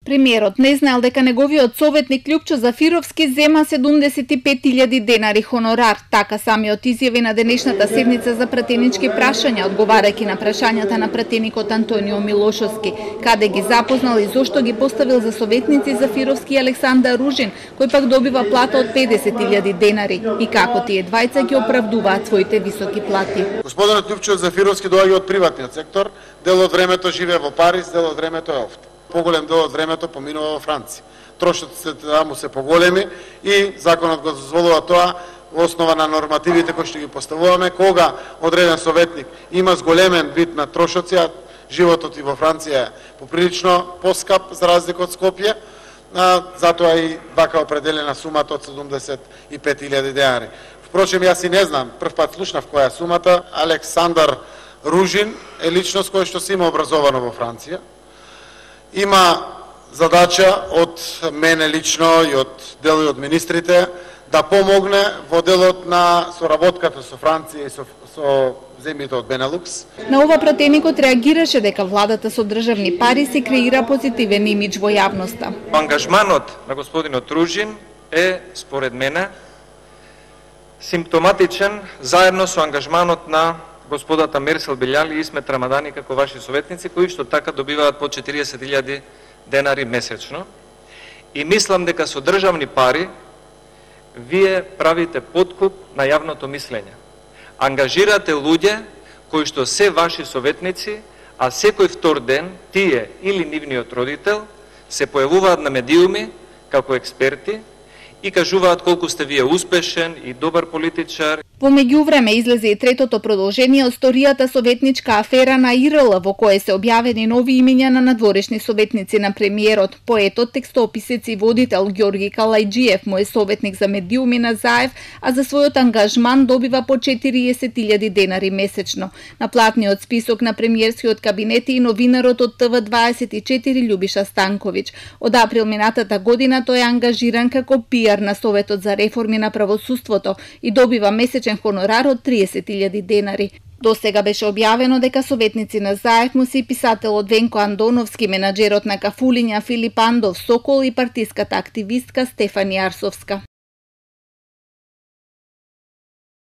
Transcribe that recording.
Премиерот не знаел дека неговиот советник Љупчо Зафировски зема 75.000 денари хонорар. Така самиот изјави на денешната седница за пратенички прашања, одговарајќи на прашањата на пратеникот Антонио Милошовски, каде ги запознал и зошто ги поставил за советници Зафировски и Александар Ружин, кој пак добива плата од 50.000 денари, и како тие двајца ги оправдуваат своите високи плати. Господинот Љупчо Зафировски доаѓа од приватниот сектор, дел од времето живее во Париз, дел од времето е овде. Поголем дел од времето поминува во Франција. Трошоците таму се поголеми и законот го дозволува тоа во основа на нормативите кои што ги поставуваме. Кога одреден советник има зголемен вид на трошоци, а животот и во Франција е поприлично поскап за разлика од Скопје, затоа и вака определена сумата од 75.000 денари. Впрочем, јас и не знам, прв пат слушнав која е сумата. Александар Ружин е личност која што се има образовано во Франција. Има задача од мене лично и од дел од министрите да помогне во делот на соработката со Франција и со земјите од Бенелукс. На ова пратеникот реагираше дека владата со државни пари се креира позитивен имидж во јавноста. Ангажманот на господинот Ружин е, според мене, симптоматичен заедно со ангажманот на господата Мерсел Белјали и Исмет Рамадани како ваши советници, кои што така добиваат по 40.000 денари месечно. И мислам дека со државни пари вие правите подкуп на јавното мислење. Ангажирате луѓе кои што се ваши советници, а секој втор ден тие или нивниот родител се појавуваат на медиуми како експерти и кажуваат колку сте вие успешен и добар политичар. Во меѓувреме излезе и третото продолжение од сторијата советничка афера на ИРЛ, во кое се објавени нови имиња на надворешни советници на премиерот. Поетот, текстописец и водител Ѓорги Калајџиев му е советник за медиуми на Заев, а за својот ангажман добива по 40.000 денари месечно. На платниот список на премиерскиот кабинет и новинарот од ТВ24 Љубиша Станковиќ. Од април минатата година тој е ангажиран како пиар на Советот за реформи на правосуството и добива месечен хонорар од 30.000 денари. До сега беше објавено дека советници на Заев му се и писателот Венко Андоновски, менаџерот на Кафулиња Филип Андов Сокол и партиската активистка Стефани Арсовска.